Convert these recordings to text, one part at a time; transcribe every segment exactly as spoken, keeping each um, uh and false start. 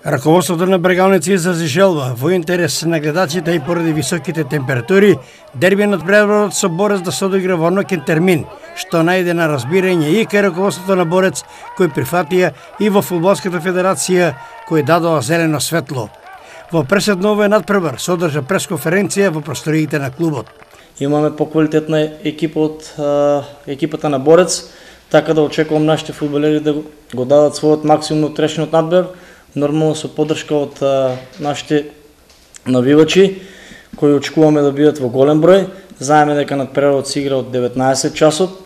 Раководството на Бргалница изрази желба во интерес на гледачите и поради високите температури, дерби надпреварот со Борец да се одигра во ноќен термин, што најде на разбирање и кај раководството на Борец, кој прифатија и во Фудбалската федерација, кој дадоа зелено светло. Во пресед на овој надпревар се одржа пресконференција во просториите на клубот. Имаме поквалитетна екипа од а, екипата на Борец, така да очекувам нашите фудбалери да го дадат својот максимум од трешниот надпревар, нормално со поддршка од а, нашите навивачи, кои очекуваме да бидат во голем број. Знаеме дека надпреварот се игра од деветнаесет часот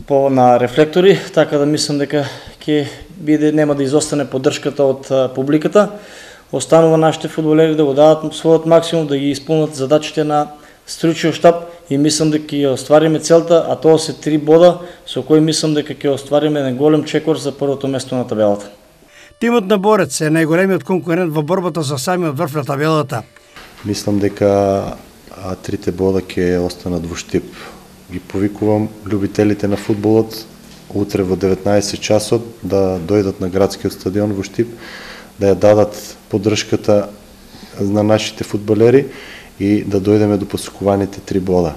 по на рефлектори, така да мислам дека ќе биде нема да изостане поддршката од а, публиката. Останува нашите фудбалери да го дадат својот максимум, да ги исполнат задачите на стручниот штаб и мислам дека ќе оствариме целта, а тоа се три бода со кои мислам дека ќе оствариме еден голем чекор за првото место на табелата. Тимот на Борец е најголемиот конкурент во борбата за самиот врв на табелата. Мислам дека а, трите бода ќе останат во Штип. Ги повикувам љубителите на фудбалот утре во деветнаесет часот да дојдат на градскиот стадион во Штип, да ја дадат поддршката на нашите фудбалери и да дојдеме до посекуваните три бода.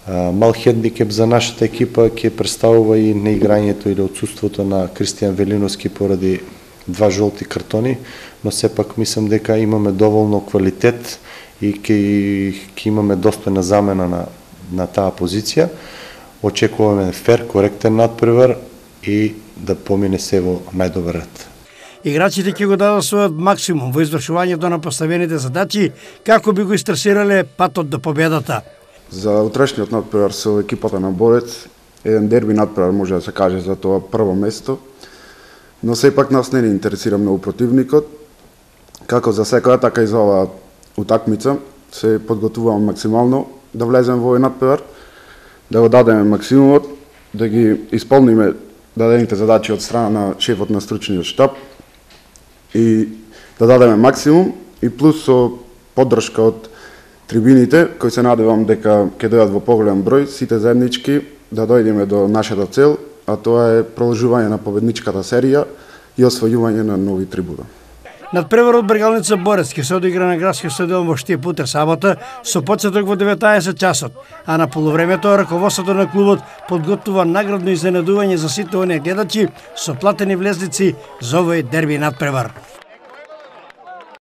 Мал хендикеп за нашата екипа ќе представува и неиграњето или отсуството на Кристијан Велиновски поради два жолти картони, но сепак мислам дека имаме доволно квалитет и ќе ќе имаме достојна замена на на таа позиција. Очекуваме фер, коректен надпревар и да помине се во најдобар ред. Играчите ќе го дадат својот максимум во извршувањето на поставените задачи, како би го истресирале патот до победата. За утрешниот надпревар со екипата на Борец, еден дерби надпревар може да се каже за тоа прво место, но сепак нас не ни интересира многу противникот. Како за секоја, така и за оваа утакмица се подготвуваме максимално да влеземе во овој надпревар, да го дадеме максимумот, да ги исполниме дадените задачи од страна на шефот на стручниот штаб и да дадеме максимум и плюс со поддршка од трибините, кои се надевам дека ќе дојдат во поголем број, сите заеднички да дојдеме до нашата цел, а тоа е продолжување на победничката серија и освојување на нови трибуна. Надпреварот Бргалница Борец ќе се одигра на градскиот стадион во Штип утре сабота со почеток во деветнаесет часот, а на полувремето раководството на клубот подготвува наградно изненадување за сите оние гледачи со платени влезници за овој дерби надпревар.